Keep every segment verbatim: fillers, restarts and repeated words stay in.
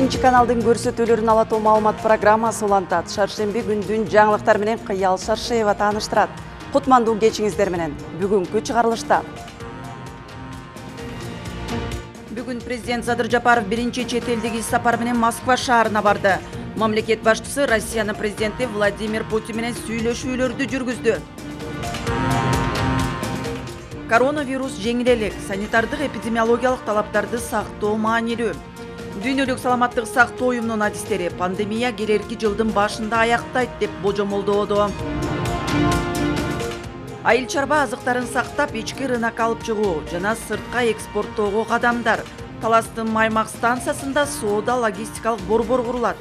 Биринчи каналдын көрсөтүүлөрүн ала тоо маалымат программасы улантат. Шаршемби күндүн жаңылыктар менен Кыял Шаршеева тааныштырат. Кутмандуу кечиңиздер менен бүгүнкү чыгарылышта. Бүгүн президент Садыр Жапаров биринчи чет элдик иш сапар менен Москва шаарына барды. Мамлекет башчысы Россиянын президенти Владимир Путин менен сүйлөшүүлөрдү жүргүздү. Коронавирус жеңил элек, санитардык эпидемиологиялык талаптарды сактоо маанилүү. Дүйнөлүк саламаттык сактоо уюмунун адистери пандемия келерки жылдын башында аяктайт деп божомолдоодо. Айыл чарба азыктарын сактап, ички рынокко алып чыгуу жана сыртка экспорттоого кадамдар. Таластын Маймак станциясында соода логистикалык борбор курулат.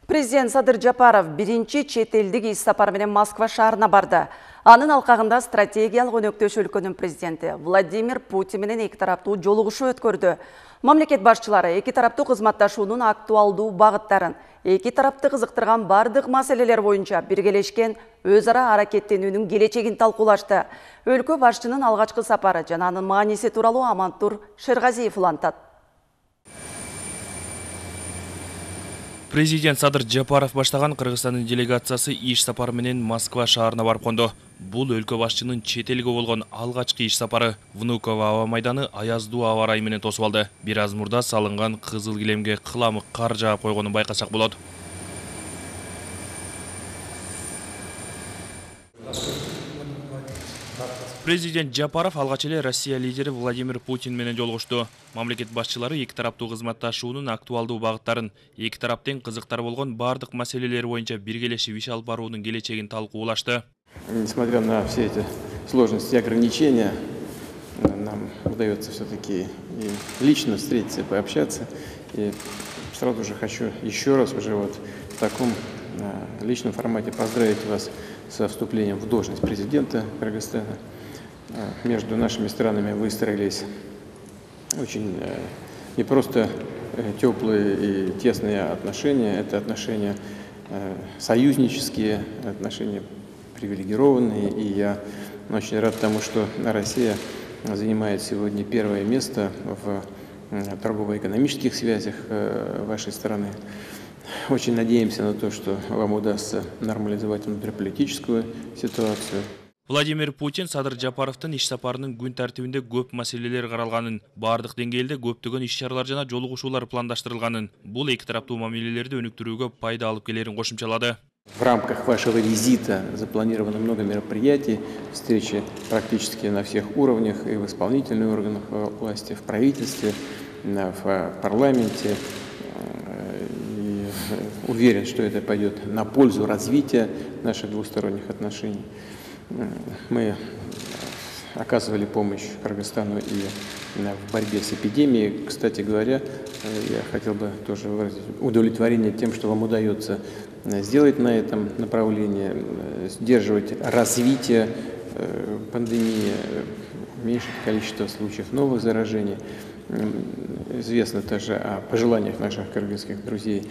Президент Садыр Жапаров биринчи чет элдик иш сапар менен Москва шаарына барды. Анын алкагында стратегиялык өнөктөш өлкөнүн президенти Владимир Путин менен эки тараптуу жолугушуу өткөрдү. Мамлекет башчылары эки тараптуу кызматташуунун актуалдуу багыттарын, эки тарапты кызыктырган бардык маселелер боюнча биргелешкен өз ара аракеттенүүнүн келечегин талкуулашты. Өлкө башчынын алгачкы сапары жана анын мааниси тууралуу Амантур Шергазиев улантат. Президент Садыр Жапаров баштаган Кыргызстандын делегациясы иш сапары менен Москва шаарына барып конду. Бул өлкө башчынын чет элге болгон алгачкы иш сапары. Внуково аба майданы аяздуу аба ырайы менен тосуп алды. Бир аз мурда салынган кызыл килемге кыламык кар жаап койгонун байкасак болот. Президент Жапаров алгач эле Россия лидери Владимир Путин менен жолугушту. Мамлекет башчылары эки тараптуу кызматташуунун актуалдуу багыттарын, эки тараптын кызыктар болгон бардык маселелер боюнча биргелешип иш алып баруунун келечегин талкуулашты. Несмотря на все эти сложности и ограничения, нам удается все-таки лично встретиться, пообщаться. И сразу же хочу еще раз уже вот в таком личном формате поздравить вас со вступлением в должность президента Кыргызстана. Между нашими странами выстроились очень не просто теплые и тесные отношения, это отношения союзнические, отношения привилегированные. И я очень рад тому, что Россия занимает сегодня первое место в торгово-экономических связях вашей страны. Очень надеемся на то, что вам удастся нормализовать внутриполитическую ситуацию. Владимир Путин Садыр Жапаровдун иш сапарынын күн тартибинде көп маселелер каралганын, бардык деңгээлде көптөгөн иш-чаралар жана жолугушуулар пландаштырылганын, бул эки тараптуу мамилелерди өнүктүрүүгө пайда алып келерин кошумчалады. В рамках вашего визита запланировано много мероприятий, встречи практически на всех уровнях, и в исполнительных органах власти, в правительстве, в парламенте. И уверен, что это пойдет на пользу развития наших двусторонних отношений. Мы оказывали помощь Кыргызстану и в борьбе с эпидемией. Кстати говоря, я хотел бы тоже выразить удовлетворение тем, что вам удается сделать на этом направлении, сдерживать развитие пандемии, уменьшить количество случаев новых заражений. Известно также о пожеланиях наших кыргызских друзей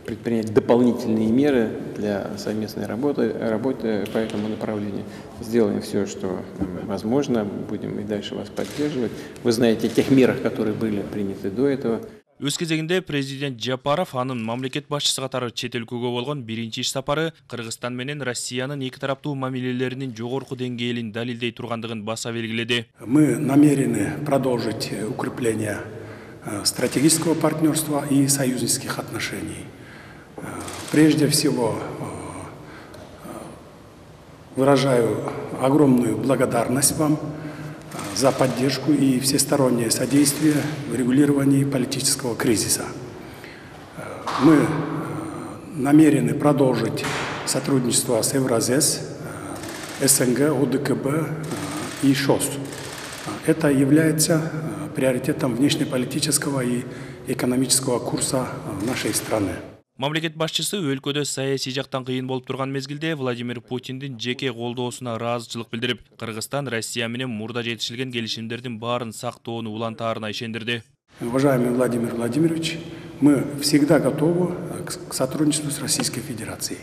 предпринять дополнительные меры для совместной работы, работы по этому направлению. Сделаем все, что возможно, будем и дальше вас поддерживать. Вы знаете о тех мерах, которые были приняты до этого. Өз кезегинде президент Жапаров анын мамлекет башчысы катары чет өлкөгө болгон биринчи иш сапары Кыргызстан менен Россиянын эки тараптуу мамилелеринин жогорку деңгээлин далилдей тургандыгын баса белгиледи. Мы намерены продолжить укрепление стратегического партнерства и союзнических отношений. Прежде всего, выражаю огромную благодарность вам за поддержку и всестороннее содействие в регулировании политического кризиса. Мы намерены продолжить сотрудничество с Евразес, СНГ, ОДКБ и ШОС. Это является приоритетом внешнеполитического и экономического курса нашей страны. Мамлекет башчысы өлкөдө саясий жактан кыйын болуп турган мезгилде Владимир Путиндин жеке колдоосуна ыраазычылык билдирип, Кыргызстан Россия менен мурда жетишилген келишимдердин баарын сактоону улантаарына ишендирди. Уважаемый Владимир Владимирович, мы всегда готовы к сотрудничеству с Российской Федерацией.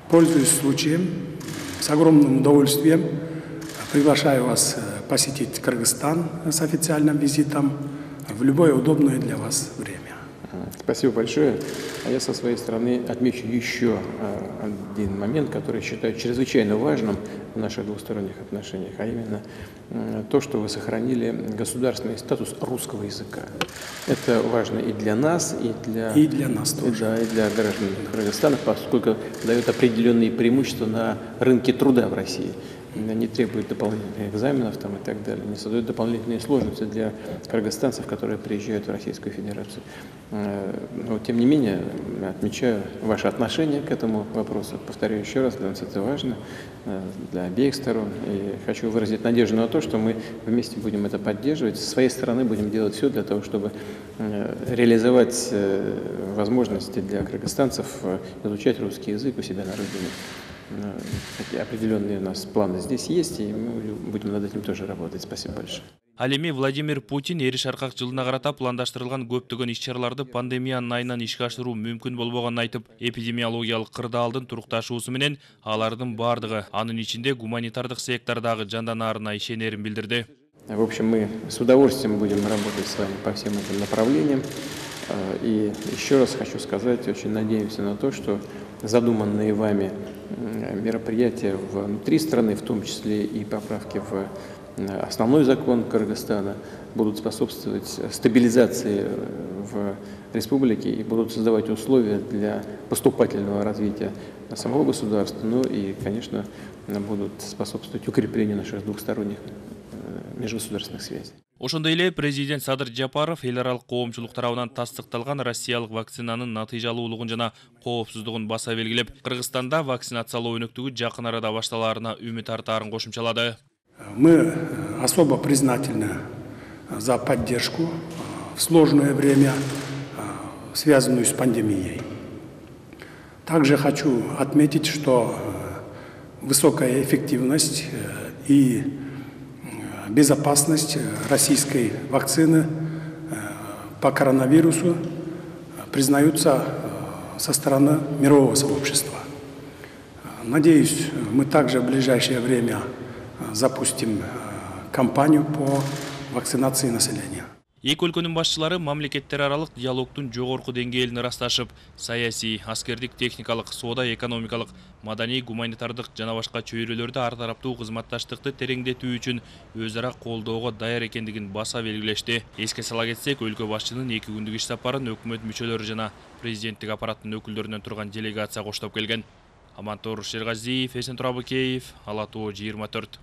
Пользуясь случаем, с огромным удовольствием приглашаю вас посетить Кыргызстан с официальным визитом в любое удобное для вас время. Спасибо большое. А я со своей стороны отмечу еще один момент, который считаю чрезвычайно важным в наших двусторонних отношениях, а именно то, что вы сохранили государственный статус русского языка. Это важно и для нас, и для, и для нас тоже. Да, и для граждан Кыргызстана, поскольку дает определенные преимущества на рынке труда в России. Не требует дополнительных экзаменов там, и так далее, не создает дополнительные сложности для кыргызстанцев, которые приезжают в Российскую Федерацию. Но, тем не менее, отмечаю ваше отношение к этому вопросу. Повторяю еще раз, для нас это важно, для обеих сторон. И хочу выразить надежду на то, что мы вместе будем это поддерживать. С своей стороны будем делать все для того, чтобы реализовать возможности для кыргызстанцев изучать русский язык у себя на родине. Такие определенные у нас планы здесь есть, и мы будем над этим тоже работать. Спасибо большое. Ал эми Владимир Путин эри шаркак жылына карата пландаштырылган көптөгөн иш-чараларды пандемиянын айынан ишке ашыруу мүмкүн болбогонун айтып, эпидемиологиялык кырдаалдын турукташуусу менен алардын бардыгы, анын ичинде гуманитардык сектордагы жанданаарына ишенерин билдирди. В общем, мы с удовольствием будем работать с вами по всем этим направлениям. И еще раз хочу сказать, очень надеемся на то, что задуманные вами мероприятия внутри страны, в том числе и поправки в основной закон Кыргызстана, будут способствовать стабилизации в республике и будут создавать условия для поступательного развития самого государства, ну и, конечно, будут способствовать укреплению наших двухсторонних межгосударственных связей. Ошондой эле президент Садыр Жапаров эл аралык коомчулук тарабынан тастыкталган россиялык вакцинанын натыйжалуулугун жана коопсуздугун баса белгилеп, Кыргызстанда вакцинациялоо өнөктүгү жакын арада башталаарына үмүт артаарын кошумчалады. Мы особо признательны за поддержку в сложное время, связанную с пандемией. Также хочу отметить, что высокая эффективность и безопасность российской вакцины по коронавирусу признаются со стороны мирового сообщества. Надеюсь, мы также в ближайшее время запустим кампанию по вакцинации населения. Эки өлкөнүн башчылары мамлекеттер аралык диалогдун жогорку деңгээлин ырасташып, саясий, аскердик, техникалык, соода, экономикалык, маданий, гуманитардык жана башка чөйрөлөрдө ар тараптуу кызматташтыкты тереңдетүү үчүн өз ара колдоого даяр экендигин баса белгилешти. Эске сала кетсек, өлкө башчынын эки күндүк иш сапарын өкмөт мүчөлөрү жана президенттик аппараттын өкүлдөрүнөн турган делегация коштоп келген. Амантор Шергазиев, Эсен Турабыкеев, Ала Тоо жыйырма төрт.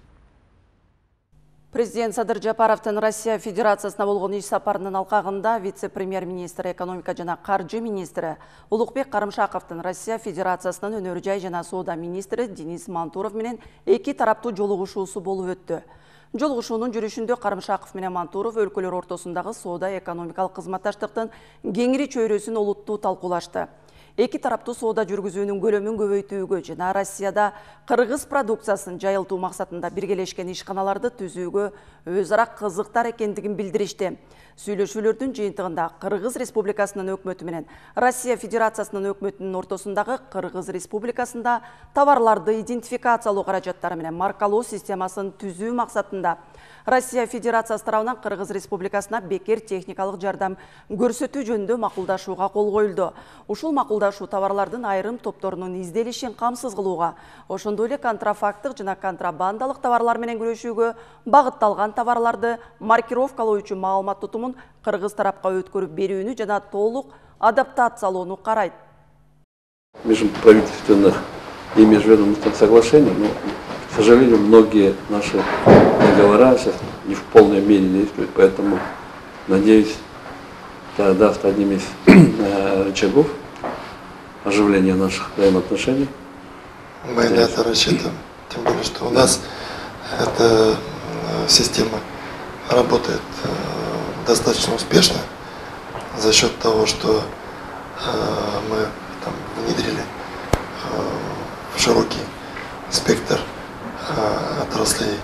Президент Садыр Жапаровдун Россия Федерациясына болгон иш сапарынын алкагында вице-премьер-министр, экономика жана каржы министри Улукбек Карымшаковдун Россия Федерациясынын өнөр жай жана соода министри Денис Мантуров менен эки тараптуу жолугушуусу болуп өттү. Жолугушуунун жүрүшүндө Карымшаков менен Мантуров өлкөлөр ортосундагы соода экономикалык кызматташтыктын кеңири чөйрөсүн олуттуу талкуулашты. Эки тараптуу соода жүргүзүүнүн көлөмүн көбөйтүүгө жана Россияда кыргыз продукциясын жайылтуу максатында биргелешкен ишканаларды түзүүгө өз ара кызыктар экендигин билдиришти. Сүйлөшүүлөрдүн жыйынтыгында Кыргыз Республикасынын өкмөтү менен Россия Федерациясынын өкмөтүнүн ортосундагы Кыргыз Республикасында товарларды идентификациялоо каражаттары менен маркалоо системасын түзүү максатында Россия Федерациясы тарабынан Кыргыз Республикасына бекер техникалык жардам көрсөтүү жөнүндө макулдашууга кол коюлду. Ушул макулдашуу товарлардын айрым топторунун изделишин камсыз кылууга, ошондой эле контрафакттык жана контрабандалык товарлар менен күрөшүүгө багытталган товарларды маркировкалоо үчүн маалымат тутумун кыргыз тарапка өткөрүп берүүнү жана толук адаптациялоону карайт. Межправительственных и межведомственных соглашений, но, к сожалению, многие наши договора сейчас не в полной мере действуют, поэтому, надеюсь, это даст одним из рычагов оживления наших взаимоотношений. Мы на это рассчитываем, тем более, что у нас эта система работает достаточно успешно за счет того, что мы там внедрили широкий спектр отраслей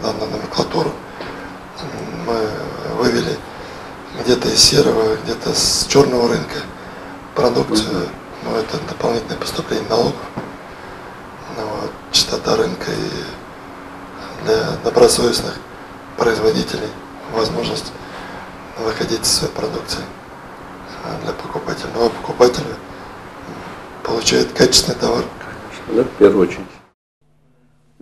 данную номенклатуру. Мы вывели где-то из серого, где-то с черного рынка продукцию, но это дополнительное поступление налогов. Вот, частота рынка и для добросовестных производителей возможность выходить с своей продукцией для покупателя. Но покупатель получает качественный товар. Конечно, да, в первую очередь.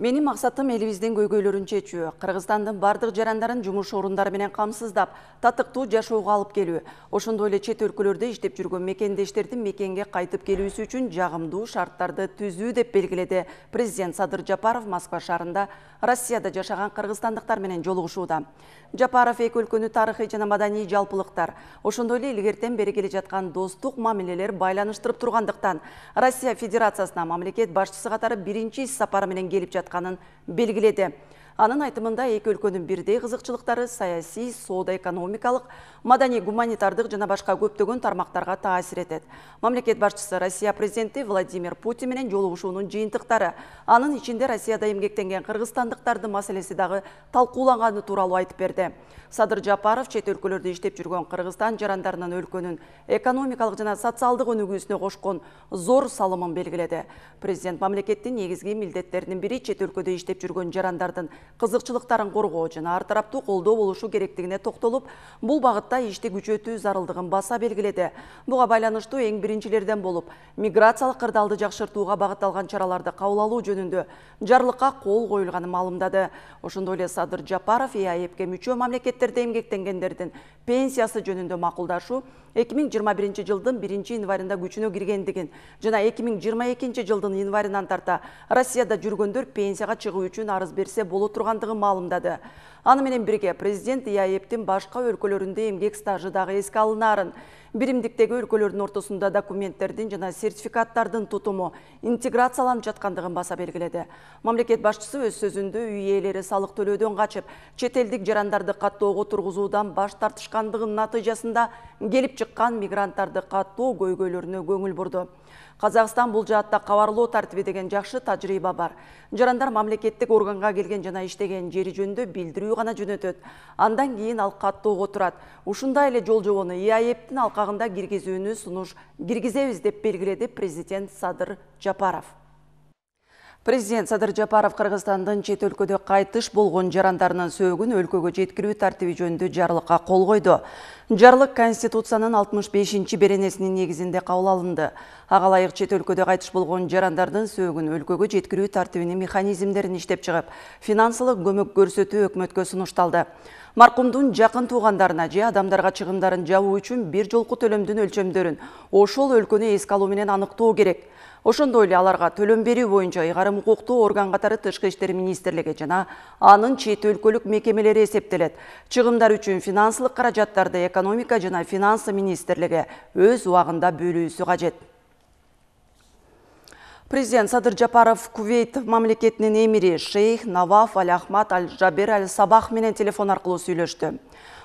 Менин максатым элибиздин көйгөйлөрүн чечүү, Кыргызстандын бардык жарандарын жумуш орундары менен камсыздап, татыктуу жашоого алып келүү. Ошондой эле чет өлкөлөрдө иштеп жүргөн мекендештердин мекенге кайтып келүүсү үчүн жагымдуу шарттарды түзүү деп белгиледи президент Садыр Жапаров Москва шаарында Россияда жашаган кыргызстандыктар менен жолугушууда. Жапаров эки өлкөнү тарыхый жана маданий жалпылыктар, ошондой эле илгертен бери келе жаткан достук мамилелер байланыштырып тургандыктан Россия Федерациясына мамлекет башчысы катары биринчи ис сапары менен келип жатканын белгиледи. Анын айтымында эки өлкөнүн бирдей кызыкчылыктары саясий, соода-экономикалык, маданий, гуманитардык жана башка көптөгөн тармактарга таасир этет. Мамлекет башчысы Россия президенти Владимир Путин менен жолугушуунун жыйынтыктары, анын ичинде Россияда эмгектенген кыргызстандыктардын маселеси дагы талкууланганы тууралуу айтып берди. Садыр Жапаров чет өлкөлөрдө иштеп жүргөн Кыргызстан жарандарынын өлкөнүн экономикалык жана социалдык өнүгүүсүнө кошкон зор салымын белгиледи. Президент мамлекеттин негизги милдеттеринин бири чет өлкөдө иштеп жүргөн жарандардын кызыкчылыктарын коргоо жана ар тараптуу колдоо болушу керектигине токтолуп, бул багытта ишти күчөтүү зарылдыгын баса белгиледи. Буга байланыштуу эң биринчилерден болуп, миграциялык кырдаалды жакшыртууга багытталган чараларды кабыл алуу жөнүндө жарлыкка кол коюлганын маалымдады. Ошондой эле Садыр Жапаров и а е пке мүчө мамлекеттерде эмгектенгендердин пенсиясы жөнүндө макулдашуу эки миң жыйырма биринчи жылдын биринчи январында күчүнө киргендигин жана эки миң жыйырма экинчи жылдын январынан тарта Россияда жүргөндөр пенсияга чыгуу үчүн арыз берсе боло тургандыгын маалымдады. Аны менен бирге президент и а е птин башка өлкөлөрүндө эмгек стажы дагы эске алынаарын, биримдиктеги өлкөлөрдүн ортосунда документтердин жана сертификаттардын тутуму интеграцияланып жаткандыгын баса белгиледи. Мамлекет башчысы өз сөзүндө үй ээлери салык төлөөдөн качып, чет элдик жарандарды каттоого тургузуудан баш тартышкандыгынын натыйжасында келип чыккан мигранттарды каттоо көйгөйлөрүнө көңүл бурду. Казакстан бул жаатта кабарлоо тартиби деген жакшы тажрыйба бар. Жарандар мамлекеттик органга келген жана иштеген жери жөнүндө билдирүү гана жөнөтөт. Андан кийин ал каттоого турат. Ушундай эле жол жобону и а е птин алкагында киргизүүнү сунуш киргизебиз деп белгиледи президент Садыр Жапаров. Президент Садыр Жапаров Кыргызстандын чет өлкөдө кайтыш болгон жарандарынын сөөгүн өлкөгө жеткирүү тартиби жөнүндө жарлыкка кол койду. Жарлык Конституциянын алтымыш бешинчи беренесинин негизинде кабыл алынды. Ага ылайык чет өлкөдө кайтыш болгон жарандардын сөөгүн өлкөгө жеткирүү тартибинин механизмдерин иштеп чыгып, финансылык көмөк көрсөтүү өкмөткө сунушталды. Маркумдун жакын туугандарына же адамдарга чыгымдарын жабуу үчүн бир жолку төлөмдүн өлчөмдөрүн ошол өлкөнү эске алуу менен аныктоо керек. Ошондой эле аларга төлөм берүү боюнча ыйгарым укуктуу орган катары Тышкы иштер министрлиги жана анын чет өлкөлүк мекемелери эсептелет. Чыгымдар үчүн финансылык каражаттарды экономика жана финансы министрлиги өз убагында бөлүүсү кажет. Президент Садыр Жапаров Кувейт мамлекетинин эмири шейх Наваф Аль-Ахмад Аль-Жабер Аль-Сабах менен телефон аркылуу сүйлөштү.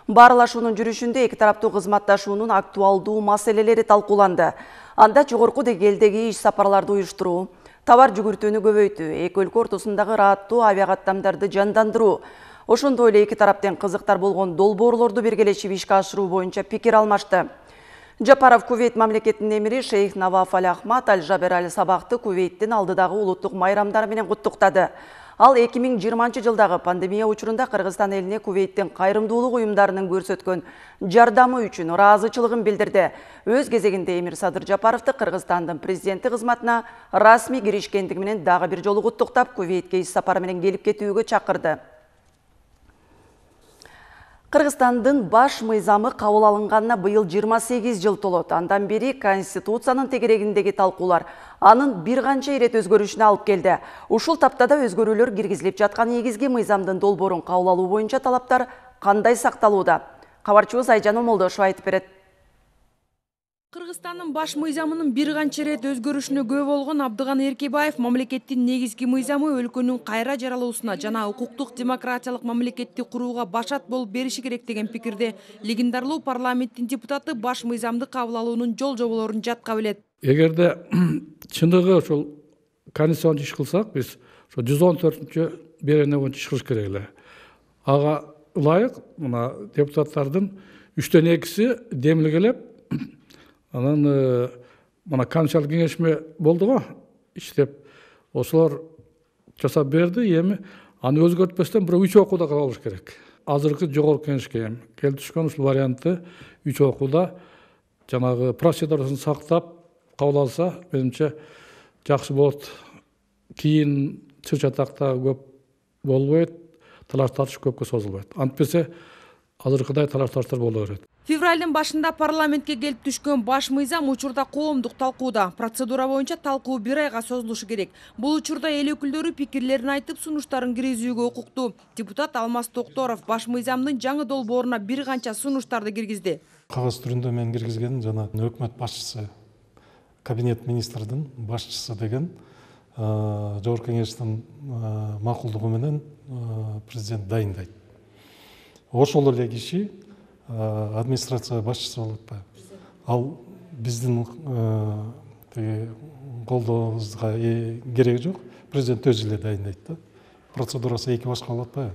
Баарлашуунун жүрүшүндө эки тараптуу кызматташуунун актуалдуу маселелери талкууланды. Анда жогорку деңгээлдеги иш сапарларды уюштуруу, товар жүгүртүүнү көбөйтүү, эки өлкө ортосундагы ырааттуу авиакаттамдарды жандандыруу, ошондой эле эки тараптын кызыктар болгон долбоорлорду биргелешип ишке ашыруу боюнча пикир алмашты. Жапаров Кувейт мамлекетинин эмири шейх Наваф Аль-Ахмад Аль-Жабер Аль-Сабахты Кувейттин алдыдагы улуттук майрамдары менен куттуктады. Ал эки миң жыйырманчы жылдагы пандемия учурунда Кыргызстан элине Кувейттин кайрымдуулук уюмдарынын көрсөткөн жардамы үчүн ыраазычылыгын билдирди. Өз кезегинде эмир Садыр Жапаровду Кыргызстандын президенти кызматына расмий киришкендиги менен дагы бир жолу куттуктап, Кувейтке иш сапары менен келип кетүүгө чакырды. Кыргызстандын баш мыйзамы кабыл алынганына быйыл жыйырма сегиз жыл толот. Андан бери Конституциянын тегерегиндеги талкуулар анын бир канча ирет өзгөрүшүнө алып келди. Ушул таптада өзгөрүүлөр киргизилип жаткан негизги мыйзамдын долбоорун кабыл алуу боюнча талаптар кандай сакталууда? Кабарчыбыз Айжан Омолдошева айтып берет. Кыргызстандын баш мыйзамынын бир канча ирет өзгөрүшүнө күбө болгон Абдыган Эркебаев мамлекеттин негизги мыйзамы өлкөнүн кайра жаралуусуна жана укуктук демократиялык мамлекетти курууга башат болуп бериши керек деген пикирде. Легендарлуу парламенттин депутаты баш мыйзамды кабыл алуунун жол жоболорун жатка билет. Эгерде чындыгы ошол конституцияны иш кылсак, биз ошо жүз он төртүнчү берене боюнча иш кылыш керек эле. Ага ылайык мына депутаттардын үчтөн экиси демилгелеп, анан мына конституциялык кеңешме болду го, иштеп, ошолор жасап берди. Эми аны өзгөртпөстөн бирок үч окууда кабыл керек. Азыркы жогорку кеңешке келип түшкөн ушул вариантты үч окууда жанагы процедурасын сактап кабыл алса, менимче жакшы болот. Кийин чыр чатакта көп болбойт, талаш тартыш көпкө созулбайт. Антпесе азыркыдай талаш тартыштар боло берет. Февралдын башында парламентке келип түшкөн баш мыйзам учурда коомдук талкууда. Процедура боюнча талкуу бир айга созулушу керек. Бул учурда эл өкүлдөрү пикирлерин айтып, сунуштарын киргизүүгө укуктуу. Депутат Алмаз Токторов баш мыйзамдын жаңы долбооруна бир канча сунуштарды киргизди. Кагаз түрүндө мен киргизгеним жана өкмөт башчысы, кабинет министрдин башчысы деген жогорку кеңештин макулдугу менен президент дайындайт. Ошол эле киши администрация башчысы болуп атпайбы. Ал биздин колдообузга кереги жок. Президент өзү эле дайындайт да. Процедурасы эки башка болуп атпайбы.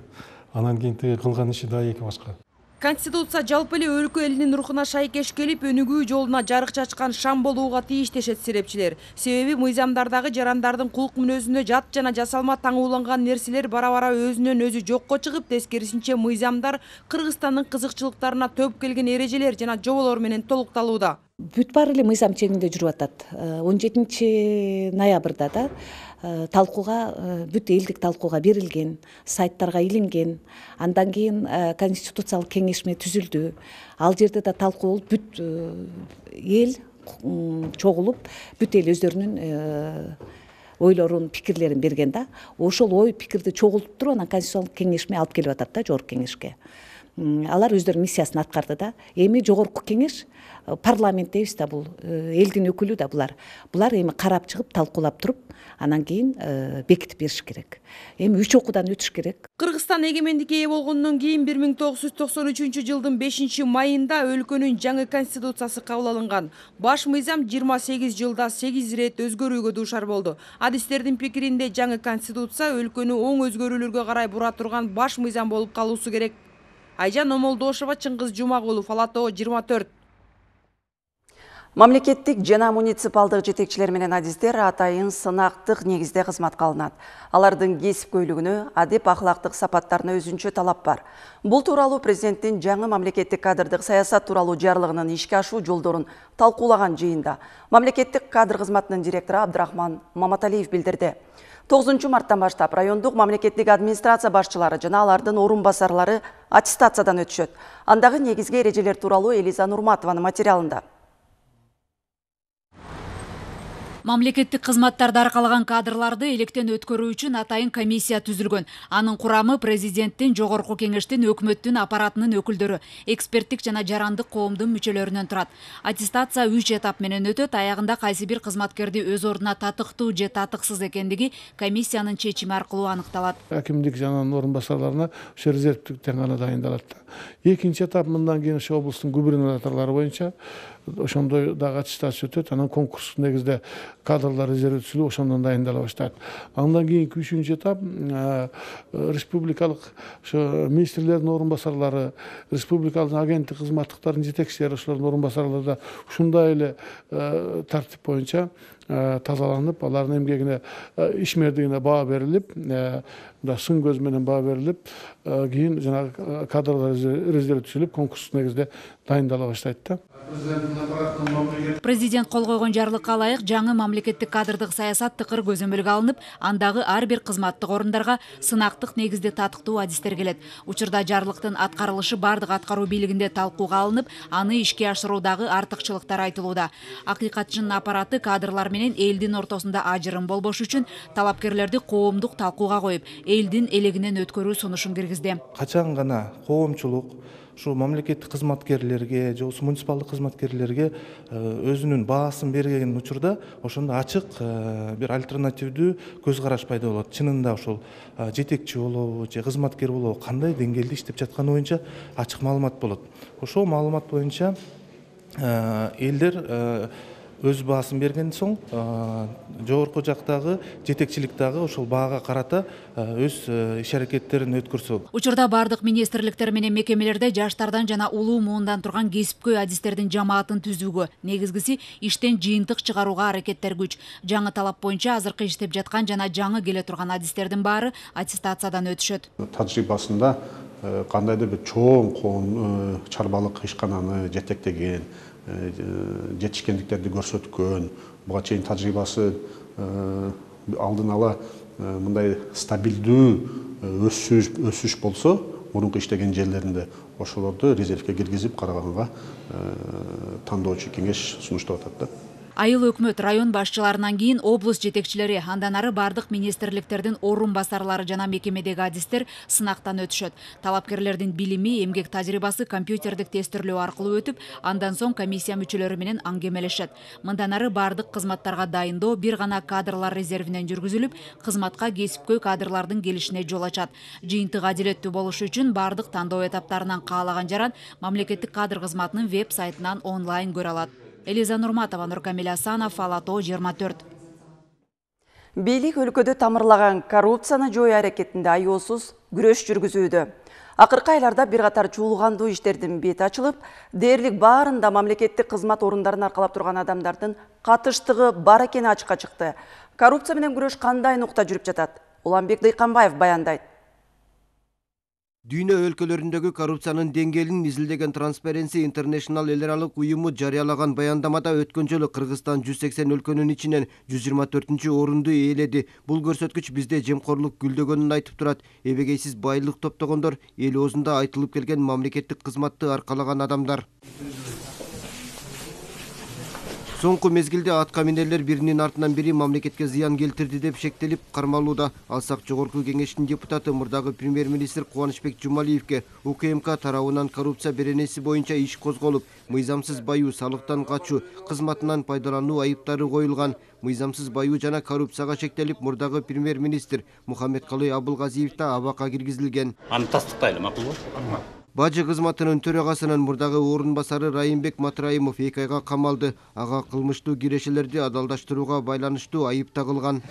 Анан кийин тиги кылган иши да эки башка. Конституция жалпы эле өлкө элинин рухуна шайкеш келип, өнүгүү жолуна жарык чачкан шам болууга тийиш дешет серепчилер. Себеби мыйзамдардагы жарандардын кулк мүнөзүнө жат жана жасалма таңууланган нерселер бара-бара өзүнөн өзү жокко чыгып, тескерисинче мыйзамдар Кыргызстандын кызыкчылыктарына төп келген эрежелер жана жоболор менен толукталууда. Бүт баары эле мыйзам чегинде жүрүп атат. он жетинчи ноябрда да талкууга, бүт элдик талкууга берилген, сайттарга илинген. Андан кийин конституциялык кеңешме түзүлдү. Ал жерде да талкуу болуп, бүт эл чогулуп, бүт эл өздөрүнүн ойлорун, пикирлерин берген да. Ошол ой пикирди чогултуп туруп, анан конституциялык кеңешме алып келип атат да, жогорку кеңешке. Алар өздөрүнүн миссиясын аткарды да. Эми жогорку кеңеш, парламент дейбиз да, бул элдин өкүлү да булар. Булар эми карап чыгып, талкуулап туруп, анан кийин бекитип бериш керек. Эми үч окуудан өтүш керек. Кыргызстан эгемендикке ээ болгондон кийин бир миң тогуз жүз токсон үчүнчү жылдын бешинчи майында өлкөнүн жаңы конституциясы кабыл алынган. Баш мыйзам жыйырма сегиз жылда сегиз ирет өзгөрүүгө дуушар болду. Адистердин пикиринде жаңы конституция өлкөнү оң өзгөрүүлөргө карай бура турган баш мыйзам болуп калуусу керек. Айжан Омолдошова, Чыңгыз Жумагулов, Ала Тоо жыйырма төрт. Мамлекеттик жана муниципалдык жетекчилер менен адистер атайын сынактык негизде кызматка алынат. Алардын кесипкөйлүгүнө, адеп ахлактык сапаттарына өзүнчө талап бар. Бул тууралуу президенттин жаңы мамлекеттик кадрдык саясат тууралуу жарлыгынын ишке ашуу жолдорун талкуулаган жыйында мамлекеттик кадр кызматынын директору Абдрахман Маматалиев билдирди. тогузунчу марттан баштап райондук мамлекеттик администрация башчылары жана алардын орун басарлары аттестациядан өтүшөт. Андагы негизги эрежелер тууралуу Элиза Нурматованын материалында. Мамлекеттик кызматтарды аркалаган кадрларды электен өткөрүү үчүн атайын комиссия түзүлгөн. Анын курамы президенттин, жогорку кеңештин, өкмөттүн аппаратынын өкүлдөрү, эксперттик жана жарандык коомдун мүчөлөрүнөн турат. Аттестация үч этап менен өтөт. Аягында кайсы бир кызматкерди өз ордуна татыктуу же татыксыз экендиги комиссиянын чечими аркылуу аныкталат. Акимдик жана орун басарларына ошо резервтиктен гана дайындалат. Экинчи этап мындан кийин ошо облустун губернаторлору боюнча ошондой дагы аттестация өтөт. Анан конкурс негизде кадрлар резерв түзүлүп, ошондон дайындала баштайт. Андан кийинки үчүнчү этап республикалык ошо министрлердин орун басарлары, республикалык агенттик кызматтыктардын жетекчилери, ошолордун орун басарлары да ушундай эле тартип боюнча тазаланып, алардын эмгегине, ишмердигине баа берилип, сын көз менен баа берилип, кийин жанагы кадрлар резерв түзүлүп, конкурс негизде дайындала баштайт да. Президент кол койгон жарлыкка ылайык жаңы мамлекеттик кадрдык саясат тыкыр көзөмөлгө алынып, андагы ар бир кызматтык орундарга сынактык негизде татыктуу адистер келет. Учурда жарлыктын аткарылышы бардык аткаруу бийлигинде талкууга алынып, аны ишке ашыруудагы артыкчылыктар айтылууда. Акыйкатчынын аппараты кадрлар менен элдин ортосунда ажырым болбош үчүн талапкерлерди коомдук талкууга коюп, элдин элегинен өткөрүү сунушун киргизди. Качан гана коомчулук ушу мамлекеттик кызматкерлерге же муниципалдык кызматкерлерге өзүнүн баасын берген учурда ошондо ачык бир альтернативдүү көз караш пайда болот. Чынында ошол жетекчи болобу же кызматкер болобу кандай деңгээлде иштеп жатканы боюнча ачык маалымат болот. Ошол маалымат боюнча элдер өз баасын берген соң жогорку жактагы жетекчилик дагы ошол баага карата өз иш аракеттерин өткөрсө. Учурда бардык министрликтер менен мекемелерде жаштардан жана улуу муундан турган кесипкөй адистердин жамаатын түзүүгө, негизгиси иштен жыйынтык чыгарууга аракеттер күч. Жаңы талап боюнча азыркы иштеп жаткан жана жаңы келе турган адистердин баары аттестациядан өтүшөт. Тажрыйбасында кандайдыр бир чоң коом чарбалык ишкананы жетектеген, жетишкендиктерди көрсөткөн, буга чейин тажрыйбасы алдын ала мындай стабилдүү өсүш өсүш болсо, мурунку иштеген жерлеринде ошолорду резервге киргизип караганга тандоочу кеңеш сунуштап атат да. Айыл өкмөт район башчыларынан кийин облус жетекчилери, андан ары бардык министрликтердин орун басарлары жана мекемедеги адистер сынактан өтүшөт. Талапкерлердин билими, эмгек тажрыйбасы компьютердик тестирлөө аркылуу өтүп, андан соң комиссия мүчөлөрү менен аңгемелешет. Мындан ары бардык кызматтарга дайындоо бир гана кадрлар резервинен жүргүзүлүп, кызматка кесипкөй кадрлардын келишине жол ачат. Жыйынтык адилеттүү болушу үчүн бардык тандоо этаптарынан каалаган жаран мамлекеттик кадр кызматынын веб-сайтынан онлайн көрө алат. Элиза Нурматова, Нуркамил Асанов, Алато жыйырма төрт. Бийлик өлкөдө тамырлаган коррупцияны жою аракетинде аяосуз күрөш жүргүзүүдө. Акыркы айларда бир катар чуулгандуу иштердин бети ачылып, дээрлик баарында мамлекеттик кызмат орундарын аркалап турган адамдардын катыштыгы бар экени ачыкка чыкты. Коррупция менен күрөш кандай нукта жүрүп жатат? Уланбек Дыйканбаев баяндайт. Дүйнө өлкөлөрүндөгү коррупциянын деңгээлин изилдеген Transparency International эл аралык уюму жарыялаган баяндамада өткөн жолу Кыргызстан жүз сексен өлкөнүн ичинен жүз жыйырма төртүнчү орунду ээледи. Бул көрсөткүч бизде жемкорлук гүлдөгөнүн айтып турат. Эбегейсиз байлык топтогондор эл оозунда айтылып келген мамлекеттик кызматты аркалаган адамдар. Соңку мезгилде атка минерлер биринин артынан бири мамлекетке зыян келтирди деп шектелип кармалууда. Алсак жогорку кеңештин депутаты мурдагы премьер-министр Кубанычбек Жумалиевке УКМК тарабынан коррупция беренеси боюнча иш козголуп, мыйзамсыз баюу, салыктан качуу, кызматынан пайдалануу айыптары коюлган. Мыйзамсыз баюу жана коррупцияга шектелип, мурдагы премьер-министр Мухаммедкалый Абылгазиев да абакка киргизилген. Аны тастыктайлы, макулбу? Бажы кызматынын төрагасынын мурдагы орун басары Райымбек Матраимов эки айга камалды. Ага кылмыштуу кирешелерди адалдаштырууга байланыштуу айып тагылган.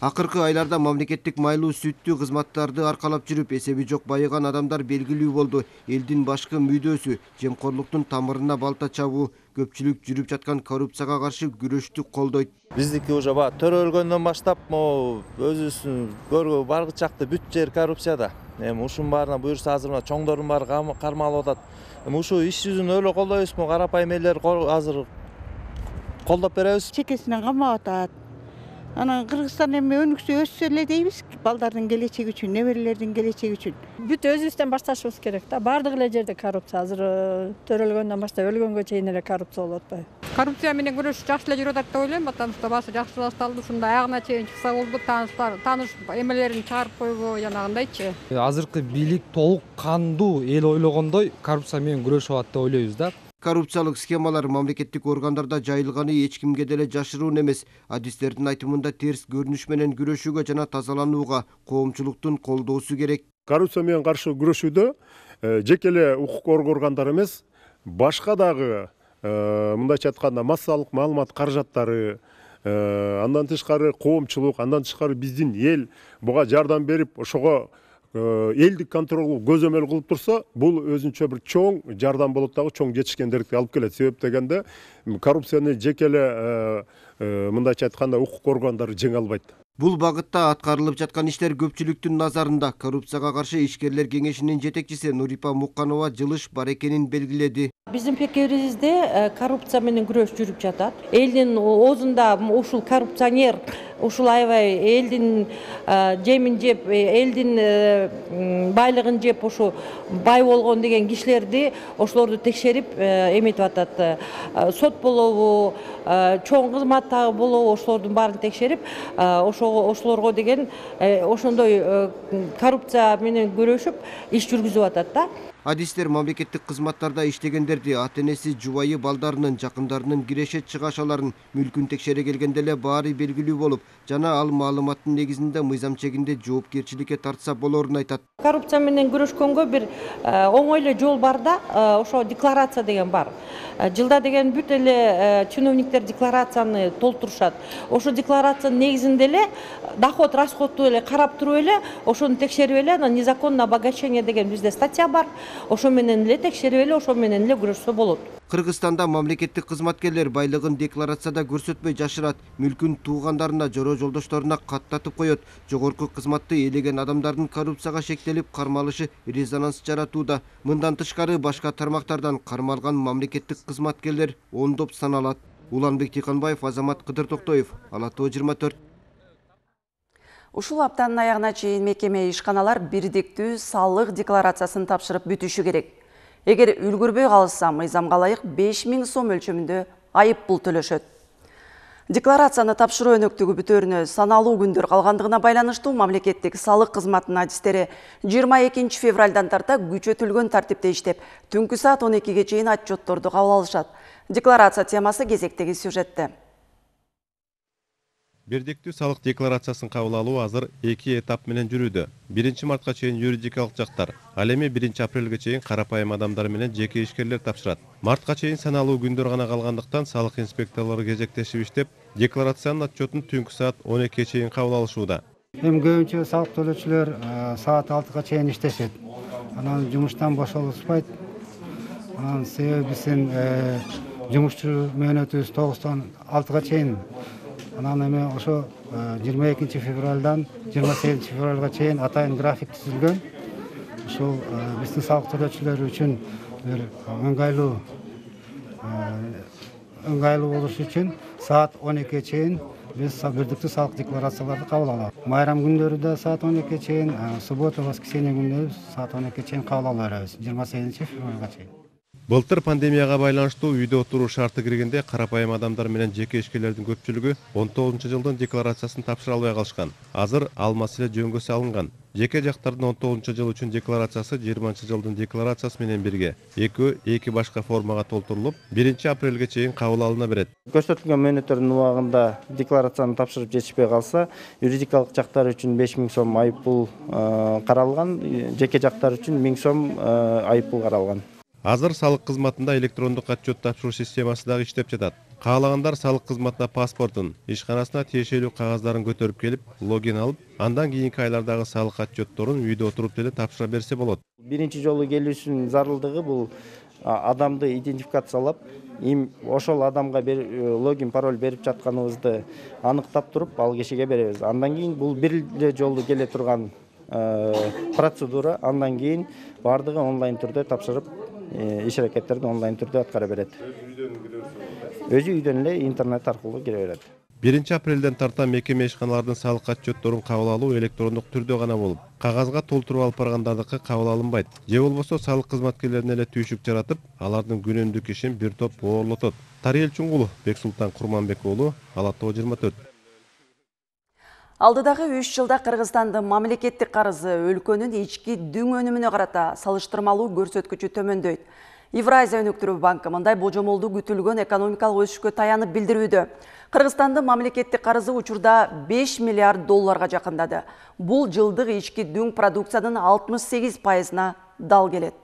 Акыркы айларда мамлекеттик майлуу сүттүү кызматтарды аркалап жүрүп, эсеби жок байыган адамдар белгилүү болду. Элдин башкы мүдөөсү, жемкорлуктун тамырына балта чабуу, көпчүлүк жүрүп жаткан коррупцияга каршы күрөштү колдойт. Биздики уже ба төрөлгөндөн баштап, могу өзүбүздүн көргө баргы чакты бүт жер коррупцияда. Эми ушунун баарына буюрса азыр мына чоңдордун баары кармалып атат. Эми ушу иш жүзүн өлө колдойбузбу, карапайым элдер азыр колдоп беребиз. Чекесинен камап атат. Анан Кыргызстан эми өнүксө өссө эле дейбиз, балдардын келечеги үчүн, неберелердин келечеги үчүн. Бүт өзүбүздөн башташыбыз керек да. Бардык эле жерде коррупция. Азыр төрөлгөндөн баштап өлгөнгө чейин эле коррупция болуп атпайбы? Коррупция менен күрөш жакшы эле жүрүп атат деп ойлойм, потому что башы жакшы башталды. Ушундай аягына чейин чыкса болду, тааныштар, тааныш эмелерин чыгарып койбу, жанагындайчы. Азыркы бийлик толук кандуу эл ойлогондой коррупция менен күрөшүп атат деп ойлойбуз да. Коррупциялык схемалар мамлекеттик органдарда жайылганы эч кимге деле жашыруун эмес. Адистердин айтымында терс көрүнүш менен күрөшүүгө жана тазаланууга коомчулуктун колдоосу керек. Коррупция менен каршы күрөшүүдө жеке эле укук органдар эмес, башка дагы мындайча айтканда массалык маалымат каражаттары, андан тышкары коомчулук, андан тышкары биздин эл буга жардам берип, ошого элдик контролду көзөмөл кылып турса, бул өзүнчө бир чоң жардам болот дагы, чоң жетишкендерди алып келет. Себеп дегенде коррупцияны жеке эле мындайча айтканда укук органдары жеңе албайт. Бул багытта аткарылып жаткан иштер көпчүлүктүн назарында. Коррупцияга каршы ишкерлер кеңешинин жетекчиси Нурипа Мукканова жылыш бар экенин белгиледи. Биздин пекебибизде коррупция менен күрөш жүрүп жатат. Элдин оозунда ушул коррупционер, ушул аябай элдин жемин жеп, элдин байлыгын жеп, ушу бай болгон деген кишилерди, ошолорду текшерип эметип атат. Сот болобу, чоң кызматтагы болобу, ошолордун баарын текшерип, ошолорго деген ошондой коррупция менен күрөшүп иш жүргүзүп атат да. Адистер мамлекеттик кызматтарда иштегендерди, ата-энеси, жубайы, балдарынын, жакындарынын киреше чыгашаларын, мүлкүн текшере келгенде эле баары белгилүү болуп, жана ал маалыматтын негизинде мыйзам чегинде жоопкерчиликке тартса болорун айтат. Коррупция менен күрөшкөнгө бир оңой эле жол бар да, ошо декларация деген бар. Жылда деген бүт эле чиновниктер декларацияны толтурушат. Ошо декларациянын негизинде эле доход расходду эле карап туруп эле, ошону текшерип эле, анан незаконное обогащение деген бизде статья бар. Ошо менен эле текшерип эле, ошо менен эле күрөшсө болот. Кыргызстанда мамлекеттик кызматкерлер байлыгын декларацияда көрсөтпөй жашырат, мүлкүн туугандарына, жора жолдошторуна каттатып коет. Жогорку кызматты ээлеген адамдардын коррупцияга шектелип кармалышы резонанс жаратууда. Мындан тышкары башка тармактардан кармалган мамлекеттик кызматкерлер ондоп саналат. Уланбек Тыйканбаев, Азамат Кыдыртоктоев, Ала тоо жыйырма төрт. Ушул аптанын аягына чейин мекеме ишканалар бирдиктүү салык декларациясын тапшырып бүтүшү керек. Эгер үлгүрбөй калышса, мыйзамга ылайык беш миң сом өлчөмүндө айып пул төлөшөт. Декларацияны тапшыруу өнөктүгү бүтөрүнө саналуу күндөр калгандыгына байланыштуу мамлекеттик салык кызматынын адистери жыйырма экинчи февралдан тарта күчөтүлгөн тартипте иштеп, түнкү саат он экиге чейин отчетторду кабыл алышат. Декларация темасы кезектеги сюжетте. Бирдиктүү салык декларациясын кабыл алуу азыр эки этап менен жүрүүдө. биринчи мартка чейин юридикалык жактар, ал эми биринчи апрелге чейин карапайым адамдар менен жеке ишкерлер тапшырат. Мартка чейин саналуу күндөр гана калгандыктан салык инспекторлору кезектешип иштеп, декларациянын отчетун түнкү саат он экиге чейин кабыл алышууда. Эми көбүнчө салык төлөөчүлөр саат алтыга чейин иштешет. Анан жумуштан бошолушпайт. Анан себеби биздин жумушчу мөөнөтүбүз тогуздан алтыга чейин. Анан эми ошо жыйырма экинчи февралдан жыйырма сегизинчи февралга чейин атайын график түзүлгөн. Ушул биздин салык төлөөчүлөр үчүн бир ыңгайлуу ыңгайлуу болуш үчүн саат он экиге чейин биз бирдиктүү салык декларацияларды кабыл алабыз. Майрам күндөрү да саат он экиге чейин, суббота, воскресенье күндөрү саат он экиге чейин кабыл ала беребиз, жыйырма сегизинчи февралга чейин. Былтыр пандемияга байланыштуу үйдө отуруу шарты киргенде карапайым адамдар менен жеке ишкерлердин көпчүлүгү он тогузунчу жылдын декларациясын тапшыра албай калышкан. Азыр ал маселе жөнгө салынган. Жеке жактардын он тогузунчу жыл үчүн декларациясы жыйырманчы жылдын декларациясы менен бирге экөө эки башка формага толтурулуп, биринчи апрелге чейин кабыл алына берет. Көрсөтүлгөн мөөнөттөрдүн убагында декларацияны тапшырып жетишпей калса, юридикалык жактар үчүн беш миң сом айып пул каралган, жеке жактар үчүн миң сом айып пул каралган. Азыр салык кызматында электрондук отчет тапшыруу системасы дагы иштеп жатат. Каалагандар салык кызматына паспортун, ишканасына тиешелүү кагаздарын көтөрүп келип, логин алып, андан кийинки айлардагы салык отчетторун үйдө отуруп деле тапшыра берсе болот. Биринчи жолу келүүсүнүн зарылдыгы бул адамды идентификациялап, им ошол адамга логин, пароль берип жатканыбызды аныктап туруп, ал кишиге беребиз. Андан кийин бул бир эле жолу келе турган процедура, андан кийин бардыгы онлайн түрдө тапшырып, иш аракеттерди онлайн түрдө аткара берет. Өзү үйдөн эле интернет аркылуу кире берет. биринчи апрелден тарта мекеме ишканалардын салык отчетторун кабыл алуу электрондук түрдө гана болуп, кагазга толтуруп алып баргандардыкы кабыл алынбайт. Же болбосо салык кызматкерлерине эле түйшүк жаратып, алардын күнүмдүк ишин бир топ оорлотот. Тариел Чуңгулов, Бексултан Курманбек уулу, Ала тоо жыйырма төрт. Алдыдагы үч жылда Кыргызстандын мамлекеттик карызы өлкөнүн ички дүң өнүмүнө карата салыштырмалуу көрсөткүчү төмөндөйт. Евразия өнүктүрүү банкы мындай божомолду күтүлгөн экономикалык өсүшкө таянып билдирүүдө. Кыргызстандын мамлекеттик карызы учурда беш миллиард долларга жакындады. Бул жылдык ички дүң продукциянын алтымыш сегиз пайызына дал келет.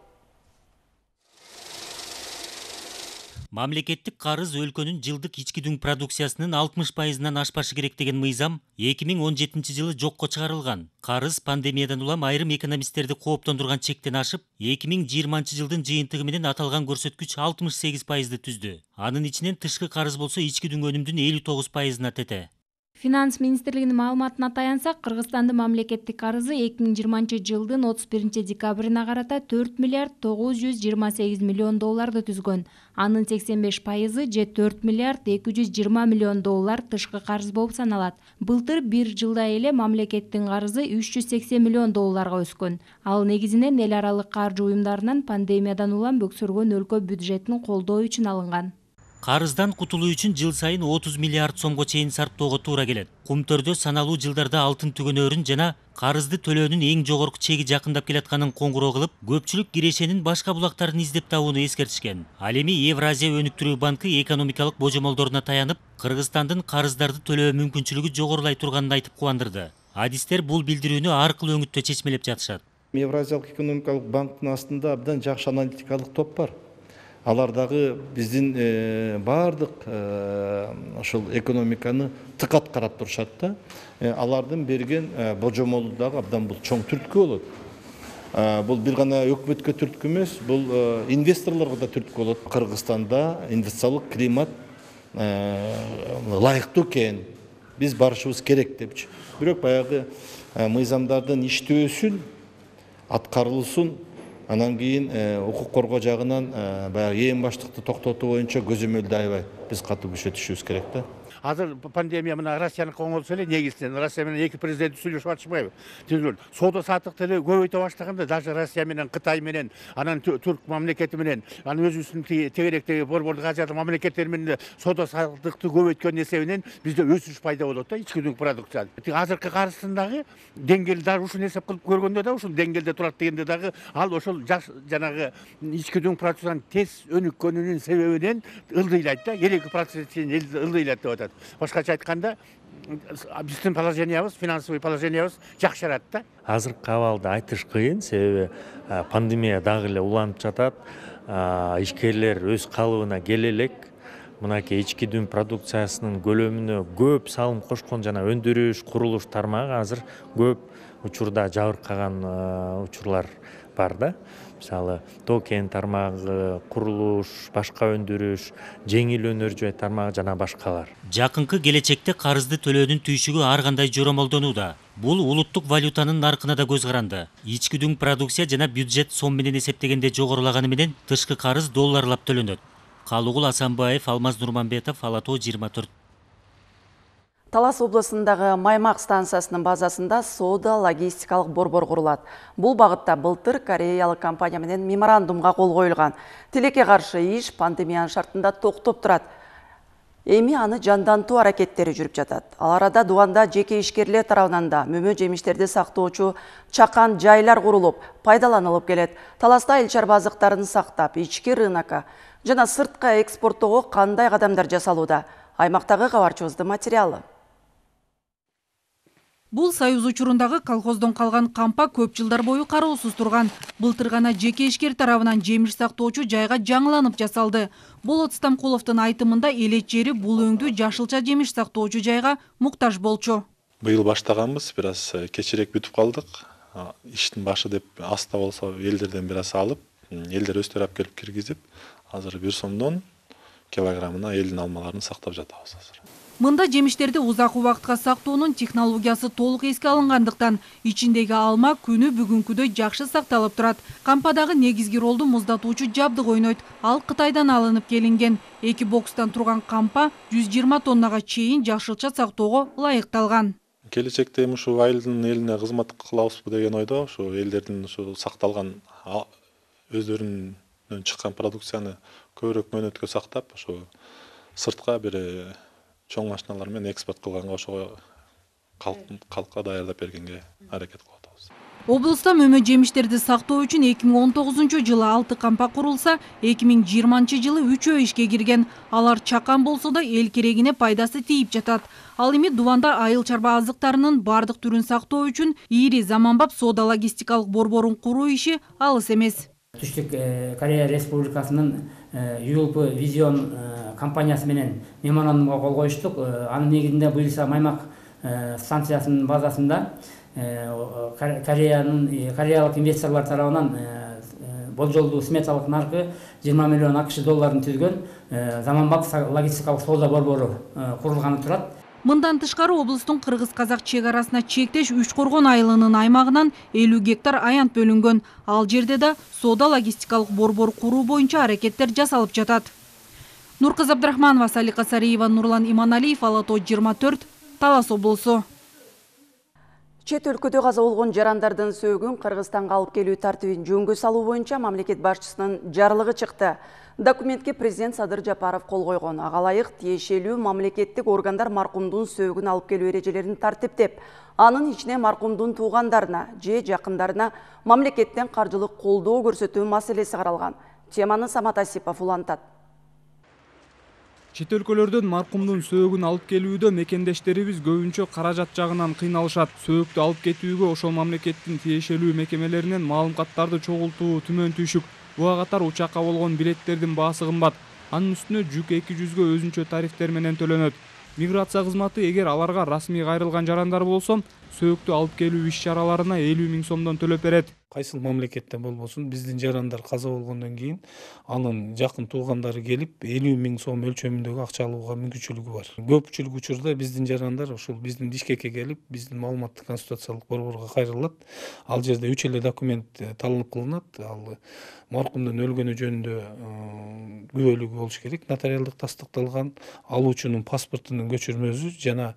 Мамлекеттик карыз өлкөнүн жылдык ички дүң продукциясынын алтымыш пайызынан ашпашы керек деген мыйзам эки миң он жетинчи жылы жокко чыгарылган. Карыз пандемиядан улам айрым экономисттерди кооптондурган чектен ашып, эки миң жыйырманчы жылдын жыйынтыгы менен аталган көрсөткүч алтымыш сегиз пайызды түздү. Анын ичинен тышкы карыз болсо ички дүң өнүмдүн элүү тогуз пайызына тете. Финанс министрлигинин маалыматына таянсак, Кыргызстандын мамлекеттик карызы эки миң жыйырманчы жылдын отуз биринчи декабрына карата төрт миллиард тогуз жүз жыйырма сегиз миллион долларды түзгөн. Анын сексен беш пайызы же төрт миллиард эки жүз жыйырма миллион доллар тышкы карыз болуп саналат. Былтыр бир жылда эле мамлекеттин карызы үч жүз сексен миллион долларга өскөн. Ал негизинен эл аралык каржы уюмдарынан пандемиядан улам бөксөргөн өлкө бюджетин колдоо үчүн алынган. Карыздан кутулуу үчүн жыл сайын отуз миллиард сомго чейин сарптоого туура келет. Кумтөрдө саналуу жылдарда алтын түгөнөрүн жана карызды төлөөнүн эң жогорку чеги жакындап келатканын коңгуроо кылып, көпчүлүк кирешенин башка булактарын издеп табууну эскертишкен. Ал эми Евразия өнүктүрүү банкы экономикалык божомолдоруна таянып, Кыргызстандын карыздарды төлөө мүмкүнчүлүгү жогорулай турганын айтып кубандырды. Адистер бул билдирүүнү ар кыл өңүттө чечмелеп жатышат. Евразиялык экономикалык банктын астында абдан жакшы аналитикалык топ бар. Алар дагы биздин баардык ошол экономиканы тыкат карап турушат да. Алардын берген божомолу дагы абдан бул чоң түрткү болот. Бул бир гана өкмөткө түрткү эмес, бул инвесторлорго да түрткү болот. Кыргызстанда инвестициялык климат ылайыктуу экен. Биз барышыбыз керек депчи. Бирок баягы мыйзамдардын иштөөсүн, аткарылышын, анан кийин укук коргоо жагынан баягы эң баштыкты токтотуу боюнча көзөмөлдү аябай биз катуу күчөтүшүбүз керек да. Азыр пандемия мына Россияныкы оңолсо эле негизинен Россия менен эки президент сүйлөшүп атышпайбы? Соода саттыкты көбөйтө баштаганда даже Россия менен Кытай менен, анан Түрк мамлекети менен, анан өзүбүздүн тегеректеги борбордук Азиядык мамлекеттер менен соода саттыкты көбөйткөн эсебинен бизде өсүш пайда болот да, ички дүң продукция. Азыркы карызындагы деңгээлди дагы ушуну эсеп кылып көргөндө да ушул деңгээлде турат дегенде дагы ал ошол жанагы ички дүң продукциянын тез өнүккөнүнүн себебинен ылдыйлайт да, элүү эки процент ылдыйлайт деп атат. Башкача айтканда, биздин положениябыз, финансовый положениябыз жакшырат да. Азыркы абалды айтыш кыйын, себеби пандемия дагы эле уланып жатат. Ишкерлер өз калыбына келе элек. Мынакей ички дүң продукциясынын көлөмүнө көп салым кошкон жана өндүрүш, курулуш тармагы азыр көп учурда жабыркаган учурлар бар да. Мисалы, токен тармагы, курулуш, башка өндүрүш, жеңил өнөр жай тармагы жана башкалар. Жакынкы келечекте карызды төлөөнүн түйшүгү ар кандай жомолдонууда. Бул улуттук валютанын наркына да көз каранды. Ички дүң продукция жана бюджет сом менен эсептегенде жогорулаганы менен тышкы карыз долларлап төлөнөт. Калугул Асанбаев, Алмаз Нурманбетов, Ала тоо жыйырма төрт. Талас облысындагы Маймак станциясынын базасында соода логистикалык борбор курулат. Бул багытта былтыр кореялык компания менен меморандумга кол коюлган. Тилекке каршы иш пандемиянын шартында токтоп турат. Эми аны жандантуу аракеттери жүрүп жатат. Ал арада Дубанда жеке ишкерлер тарабынан да мөмө жемиштерди сактоочу чакан жайлар курулуп, пайдаланылып келет. Таласта эл чарба азыктарын сактап, ички рынокко жана сыртка экспорттоого кандай кадамдар жасалууда? Аймактагы кабарчыбыздын материалы. Бул Союз учурундагы колхоздон калган кампа көп жылдар бою кароосуз турган. Былтыр гана жеке ишкер тарабынан жемиш сактоочу жайга жаңыланып жасалды. Болот Стамкуловдун айтымында элет жери бул өңдүү жашылча жемиш сактоочу жайга муктаж болчу. Быйыл баштаганбыз, бир аз кечирээк бүтүп калдык. Иштин башы деп аста болсо элдерден бир аз алып, элдер өздөрү алып келип киргизип, азыр бир сомдон килограммына элдин алмаларын сактап жатабыз азыр. Мында жемиштерди узак убакытка сактоонун технологиясы толук эске алынгандыктан ичиндеги алма күнү бүгүнкүдөй жакшы сакталып турат. Кампадагы негизги ролду муздатуучу жабдык ойнойт. Ал Кытайдан алынып келинген. Эки бокстан турган кампа жүз жыйырма тоннага чейин жашылча сактоого ылайыкталган. Келечекте ушу айылдын элине кызмат кылабызбы деген ойдо, ушу элдердин ушу сакталган өздөрүнүн чыккан продукцияны көбүрөөк мөөнөткө сактап, ушу сыртка бир чоң машиналар менен экспорт кылганга ошого калкка даярдап бергенге аракет кылып атабыз. Облуста мөмө жемиштерди сактоо үчүн эки миң он тогузунчу жылы алты кампа курулса, эки миң жыйырманчы жылы үчөө ишке кирген. Алар чакан болсо да эл керегине пайдасы тийип жатат. Ал эми Дубанда айыл чарба азыктарынын бардык түрүн сактоо үчүн ири заманбап соода логистикалык борборун куруу иши алыс эмес. Түштүк Корея Республикасынын ю эл пи Vision компаниясы менен меморандумга кол коюштук. Анын негизинде буюрса Маймак станциясынын базасында Кореянын кореялык инвесторлор тарабынан болжолдуу сметалык наркы жыйырма миллион акш долларын түзгөн заманбап логистикалык соода борбору курулганы турат. Мындан тышкары облустун кыргыз-казак чек арасына чектеш Үч Коргон айылынын аймагынан элүү гектар аянт бөлүнгөн. Ал жерде да соода логистикалык борбор куруу боюнча аракеттер жасалып жатат. Нуркыз Абдрахманова, Салика Сариева, Нурлан Иманалиев, Ала тоо жыйырма төрт, Талас облусу. Чет өлкөдө каза болгон жарандардын сөөгүн Кыргызстанга алып келүү тартибин жөнгө салуу боюнча мамлекет башчысынын жарлыгы чыкты. Документке президент Садыр Жапаров кол койгон. Ага ылайык тиешелүү мамлекеттик органдар маркумдун сөөгүн алып келүү эрежелерин тартиптеп, анын ичине маркумдун туугандарына же жакындарына мамлекеттен каржылык колдоо көрсөтүү маселеси каралган. Теманы Самат Асипов улантат. Чет өлкөлөрдөн маркумдун сөөгүн алып келүүдө мекендештерибиз көбүнчө каражат жагынан кыйналышат. Сөөктү алып кетүүгө ошол мамлекеттин тиешелүү мекемелеринен маалыматтарды чогултуу түмөн түйшүк. Буга катар учакка болгон билеттердин баасы кымбат. Анын үстүнө жүк эки жүзгө өзүнчө тарифтер менен төлөнөт. Миграция кызматы эгер аларга расмий кайрылган жарандар болсо, сөөктү алып келүү иш-чараларына элүү миң сомдон төлөп берет. Кайсыл мамлекеттен болбосун биздин жарандар каза болгондон кийин анын жакын туугандары келип элүү миң сом өлчөмүндөгү акча алууга мүмкүнчүлүгү бар. Көпчүлүк учурда биздин жарандар ушул биздин Бишкекке келип, биздин маалыматтык консультациялык борборго кайрылат. Ал жерде үч эле документ талап кылынат. Ал маркумдун өлгөнү жөнүндө күбөлүгү болуш керек, нотариалдык тастыкталган, алуучунун паспортунун көчүрмөсү жана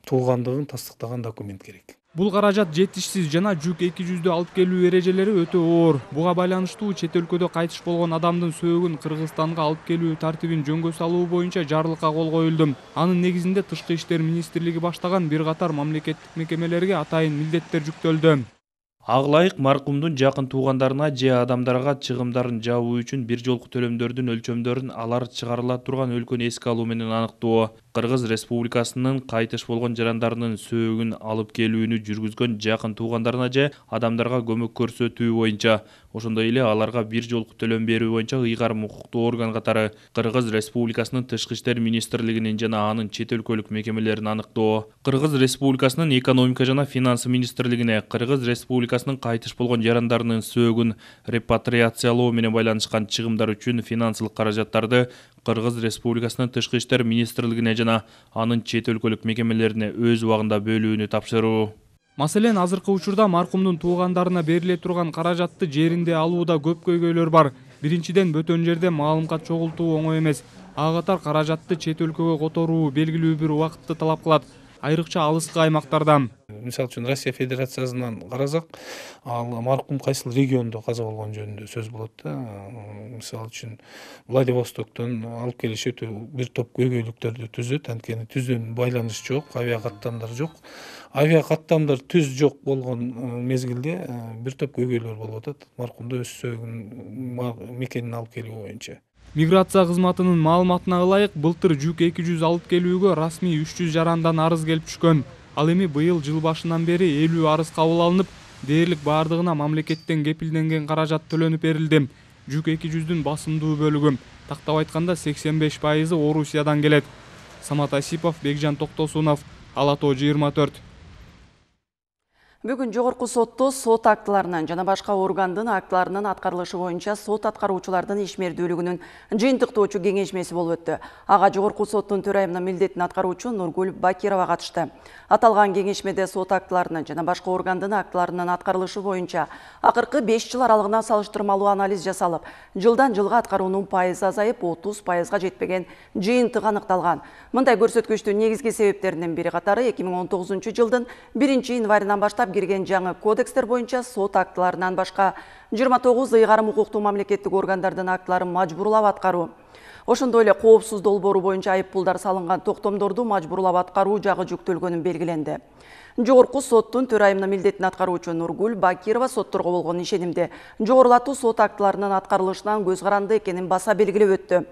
туугандыгын тастыктаган документ керек. Бул каражат жетишсиз жана жүк эки жүздү алып келүү эрежелери өтө оор. Буга байланыштуу чет өлкөдө кайтыш болгон адамдын сөөгүн Кыргызстанга алып келүү тартибин жөнгө салуу боюнча жарлыкка кол коюлду. Анын негизинде Тышкы иштер министрлиги баштаган бир катар мамлекеттик мекемелерге атайын милдеттер жүктөлдү. Ага ылайык маркумдун жакын туугандарына же адамдарга чыгымдарын жабуу үчүн бир жолку төлөмдөрдүн өлчөмдөрүн алар чыгарыла турган өлкөнү эске алуу менен аныктоо. Кыргыз Республикасынын кайтыш болгон жарандарынын сөөгүн алып келүүнү жүргүзгөн жакын туугандарына же адамдарга көмөк көрсөтүү боюнча, ошондой эле аларга бир жолку төлөм берүү боюнча ыйгарым укуктуу орган катары Кыргыз Республикасынын Тышкы иштер министрлигинин жана анын чет өлкөлүк мекемелерин аныктоо. Кыргыз Республикасынын экономика жана финансы министрлигине Кыргыз Республикасынын кайтыш болгон жарандарынын сөөгүн репатриациялоо менен байланышкан чыгымдар үчүн финансылык каражаттарды Кыргыз Республикасынын Тышкы иштер министрлигине жана анын чет өлкөлүк мекемелерине өз убагында бөлүүнү тапшыруу. Маселен, азыркы учурда маркумдун туугандарына бериле турган каражатты жеринде алууда көп көйгөйлөр бар. Биринчиден, бөтөн жерде маалымат чогултуу оңой эмес. Ага катар каражатты чет өлкөгө которуу белгилүү бир убакытты талап кылат, айрыкча алыскы аймактардан. Мисалы үчүн Россия Федерациясынан карасак, ал маркум кайсыл региондо каза болгон жөнүндө сөз болот да. Мисалы үчүн Владивостоктон алып келиши өтө бир топ көйгөйлүктөрдү түзөт, анткени түздөн байланыш жок, авиа каттамдар жок. Авиа каттамдар түз жок болгон мезгилде бир топ көйгөйлөр болуп атат. Маркумду өз сөөгүн мекенин алып келүү боюнча. Миграция кызматынын маалыматына ылайык, былтыр жүк эки жүз алып келүүгө расмий үч жүз жарандан арыз келип түшкөн. Ал эми быйыл жыл башынан бери элүү арыз кабыл алынып, дээрлик бардыгына мамлекеттен кепилденген каражат төлөнүп берилди. Жүк эки жүздүн басымдуу бөлүгү, тактап айтканда сексен беш пайызы Орусиядан келет. Самат Асипов, Бекжан Токтосунов, Ала Тоо жыйырма төрт. Бүгүн жогорку сотто сот актыларынан жана башка органдын актыларынын аткарылышы боюнча сот аткаруучулардын ишмердүүлүгүнүн жыйынтыктоочу кеңешмеси болуп өттү. Ага жогорку соттун төрайымынын милдетин аткаруучу Нургүл Бакирова катышты. Аталган кеңешмеде сот актыларынын жана башка органдын актыларынын аткарылышы боюнча акыркы беш жыл аралыгына салыштырмалуу анализ жасалып, жылдан жылга аткаруунун пайызы азайып, отуз пайызга жетпеген жыйынтык аныкталган. Мындай көрсөткүчтүн негизги себептеринин бири катары эки миң он тогузунчу жылдын биринчи январынан баштап кирген жаңы кодекстер боюнча сот актыларынан башка жыйырма тогуз ыйгарым укуктуу мамлекеттик органдардын актыларын мажбурлап аткаруу. Ошондой эле коопсуз долбоору боюнча айыппулдар салынган токтомдорду мажбурлап аткаруу жагы жүктөлгөнү белгиленди. Жогорку соттун төрайымынын милдетин аткаруучу Нургүл Бакирова сотторго болгон ишенимде жогорулатуу сот актыларынын аткарылышынан көз каранды экенин баса белгилеп өттү.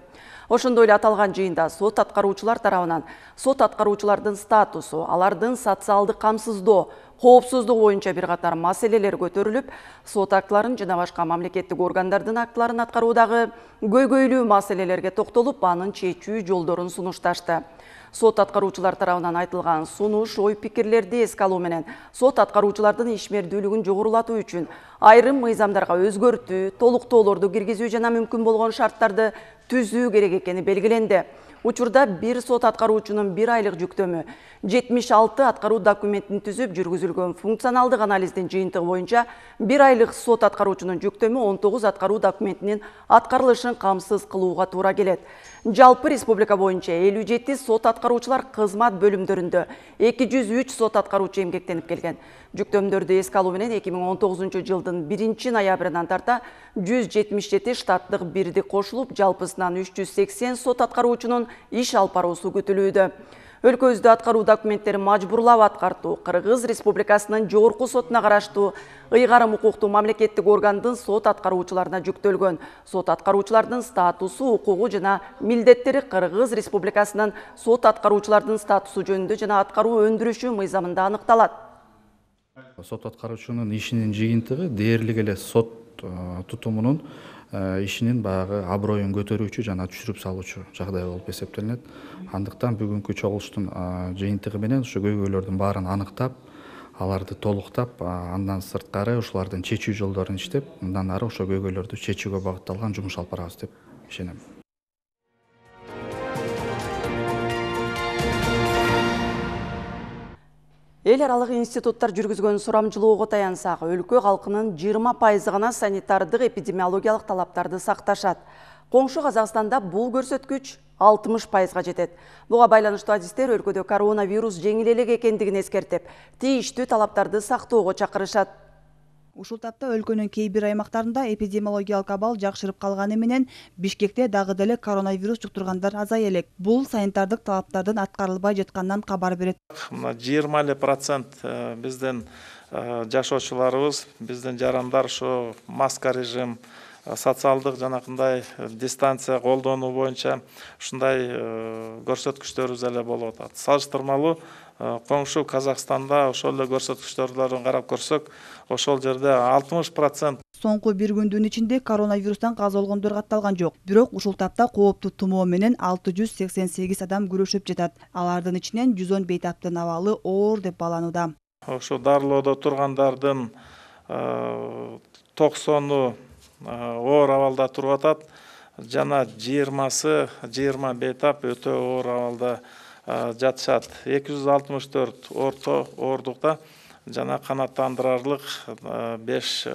Ошондой эле аталган жыйында сот аткаруучулар тарабынан сот аткаруучулардын статусу, алардын социалдык камсыздоо, коопсуздук боюнча бир катар маселелер көтөрүлүп, сот актыларын жана башка мамлекеттик органдардын актыларын аткаруудагы көйгөйлүү маселелерге токтолуп, анын чечүү жолдорун сунушташты. Сот аткаруучулар тарабынан айтылган сунуш, ой пикирлерди эске алуу менен сот аткаруучулардын ишмердүүлүгүн жогорулатуу үчүн айрым мыйзамдарга өзгөртүү, толуктоолорду киргизүү жана мүмкүн болгон шарттарды түзүү керек экени белгиленди. Учурда бир сот аткаруучунун бир айлык жүктөмү жетимиш алты аткаруу документин түзүп жүргүзүлгөн функционалдык анализдин жыйынтыгы боюнча бир айлык сот аткаруучунун жүктөмү он тогуз аткаруу документинин аткарылышын камсыз кылууга туура келет. Жалпы республика боюнча элүү жети сот аткаруучулар кызмат бөлүмдөрүндө эки жүз үч сот аткаруучу эмгектенип келген. Жүктөмдөрдү эске алуу менен эки миң он тогузунчу жылдын биринчи ноябрынан тарта жүз жетимиш жети штаттык бирдик кошулуп, жалпысынан үч жүз сексен сот аткаруучунун иш алып баруусу күтүлүүдө. Өлкөбүздө аткаруу документтерин мажбурлап аткартуу Кыргыз Республикасынын жогорку сотуна караштуу ыйгарым укуктуу мамлекеттик органдын сот аткаруучуларына жүктөлгөн. Сот аткаруучулардын статусу, укугу жана милдеттери Кыргыз Республикасынын сот аткаруучулардын статусу жөнүндө жана аткаруу өндүрүшү мыйзамында аныкталат. Сот аткаруучунун ишинин жыйынтыгы дээрлик эле сот тутумунун ишинин баягы аброюн көтөрүүчү жана түшүрүп салуучу жагдай болуп эсептелинет. Андыктан бүгүнкү чогулуштун жыйынтыгы менен ушу көйгөйлөрдүн баарын аныктап, аларды толуктап, андан сырткары ушулардын чечүү жолдорун иштеп, мындан ары ошо көйгөйлөрдү чечүүгө багытталган жумуш алып барабыз деп ишенем. Эл аралык институттар жүргүзгөн сурамжылоого таянсак, өлкө калкынын жыйырма пайызы гана санитардык эпидемиологиялык талаптарды сакташат. Коңшу Казакстанда бул көрсөткүч алтымыш пайызга жетет. Буга байланыштуу адистер өлкөдө коронавирус жеңил элек экендигин эскертип, тийиштүү талаптарды сактоого чакырышат. Ушул тапта өлкөнүн кей бир аймактарында эпидемиологиялык абал жакшырып калганы менен Бишкекте дагы деле коронавирус жуктургандар азая элек. Бул санитардык талаптардын аткарылбай жатканынан кабар берет. Мына жыйырма эле процент биздин жашоочуларыбыз, биздин жарандар ушу маска режим, социалдык жанакындай дистанция колдонуу боюнча ушундай көрсөткүчтөрүбүз эле болуп атат. Салыштырмалуу коңшу Казакстанда ошол эле көрсөткүчтөрдөн карап көрсөк, ошол жерде алтымыш процент. Соңку бир күндүн ичинде коронавирустан каза болгондор катталган жок. Бирок ушул тапта кооптуу тумоо менен алты жүз сексен сегиз адам күрөшүп жатат. Алардын ичинен жүз он бейтаптын абалы оор деп бааланууда. Ошо дарылоодо тургандардын токсону оор абалда туруп атат. Жана жыйырмасы, жыйырма бейтап өтө оор абалда жатышат. эки жүз алтымыш төрт орто оордукта жана канааттандырарлык беш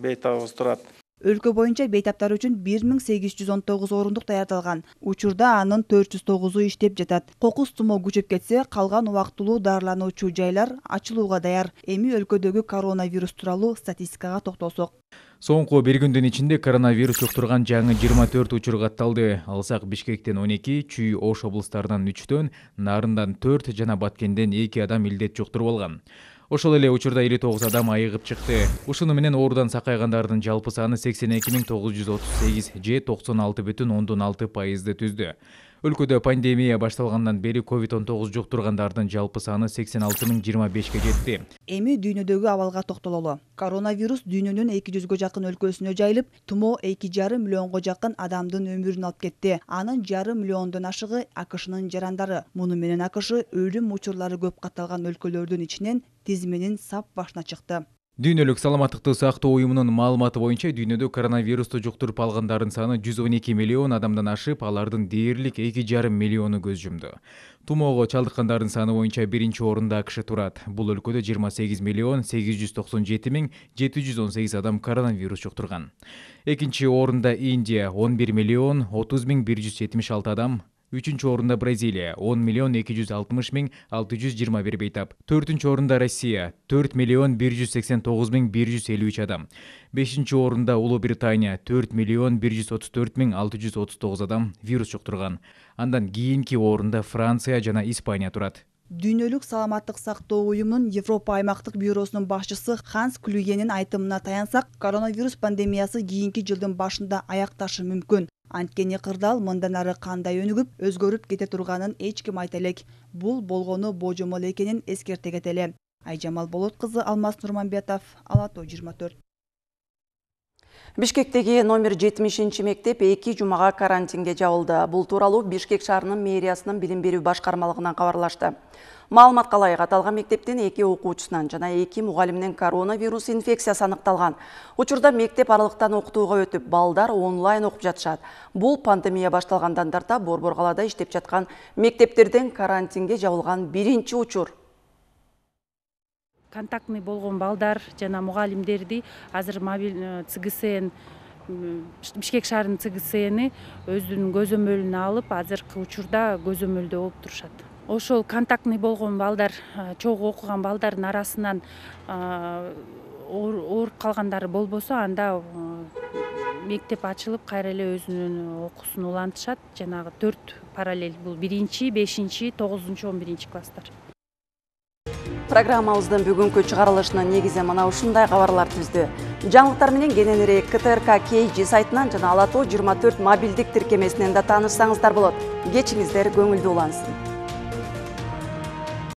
бейтабыбыз турат. Өлкө боюнча бейтаптар үчүн бир миң сегиз жүз он тогуз орундук даярдалган. Учурда анын төрт жүз тогузу иштеп жатат. Кокус тумоо күчөп кетсе, калган убактылуу дарылануучу жайлар ачылууга даяр. Эми өлкөдөгү коронавирус тууралуу статистикага токтолсок. Соңку бир күндүн ичинде коронавирус жуктурган жаңы жыйырма төрт учур катталды. Алсак Бишкектен он эки, Чүй Ош облустарынан үчтөн, Нарындан төрт жана Баткенден эки адам илдет жуктуруп алган. Ошол эле учурда элүү тогуз адам айыгып чыкты. Ушуну менен оорудан сакайгандардын жалпы саны сексен эки миң тогуз жүз отуз сегиз же токсон алты бүтүн ондон алты пайызды түздү. Өлкөдө пандемия башталгандан бери ковид он тогуз жуктургандардын жалпы саны сексен алты миң жыйырма бешке жетти. Эми дүйнөдөгү абалга токтололу. Коронавирус дүйнөнүн эки жүзгө жакын өлкөсүнө жайылып, тумоо эки жарым миллионго жакын адамдын өмүрүн алып кетти. Анын жарым миллиондон ашыгы АКШнын жарандары. Муну менен АКШ өлүм учурлары көп катталган өлкөлөрдүн ичинен тизменин сап башына чыкты. Дүйнөлүк саламаттыкты сактоо уюмунун маалыматы боюнча дүйнөдө коронавирусту жуктуруп алгандардын саны жүз он эки миллион адамдан ашып, алардын дээрлик эки жарым миллиону көз жумду. Тумоого чалдыккандардын саны боюнча биринчи орунда АКШ турат. Бул өлкөдө жыйырма сегиз миллион сегиз жүз токсон жети миң жети жүз он сегиз адам коронавирус жуктурган. Экинчи орунда Индия он бир миллион отуз миң бир жүз жетимиш алты адам. Үчүнчү орунда Бразилия он миллион эки жүз алтымыш миң алты жүз жыйырма бир бейтап. Төртүнчү орунда Россия төрт миллион бир жүз сексен тогуз миң бир жүз элүү үч адам. Бешинчи орунда Улуу Британия төрт миллион бир жүз отуз төрт миң алты жүз отуз тогуз адам вирус жуктурган. Андан кийинки орунда Франция жана Испания турат. Дүйнөлүк саламаттык сактоо уюмунун Европа аймактык бюросунун башчысы Ханс Клюгенин айтымына таянсак, коронавирус пандемиясы кийинки жылдын башында аякташы мүмкүн. Анткени кырдаал мындан ары кандай өнүгүп, өзгөрүп кете турганын эч ким айта элек. Бул болгону божомол экенин эскерте кетели. Айжамал Болот кызы, Алмаз Нурманбетов, Ала Тоо жыйырма төрт. Бишкектеги номер жетимишинчи мектеп эки жумага карантинге жабылды. Бул тууралуу Бишкек шаарынын мэриясынын билим берүү башкармалыгынан кабарлашты. Маалыматка ылайык аталган мектептен эки окуучусунан жана эки мугалимден коронавирус инфекциясы аныкталган. Учурда мектеп аралыктан окутууга өтүп, балдар онлайн окуп жатышат. Бул пандемия башталгандан тарта Борбор калаада иштеп жаткан мектептерден карантинге жабылган биринчи учур. Контактный болгон балдар жана мугалимдерди азыр мобиль ЦГСН Бишкек шаарынын ЦГСНи өзүнүн көзөмөлүнө алып, азыркы учурда көзөмөлдө болуп турушат. Ошол контактный болгон балдар, чогуу окуган балдардын арасынан ооруп калгандары болбосо, анда мектеп ачылып, кайра эле өзүнүн окуусун улантышат. Жанагы төрт параллель, бул биринчи, бешинчи, тогузунчу, он биринчи класстар. Программабыздын бүгүнкү чыгарылышына негизе мына ушундай кабарлар түздү. Жаңылыктар менен кененирээк КТРК Кей Жи сайтынан жана Ала Тоо жыйырма төрт мобилдик тиркемесинен да таанышсаңыздар болот. Кечиңиздер көңүлдүү улансын.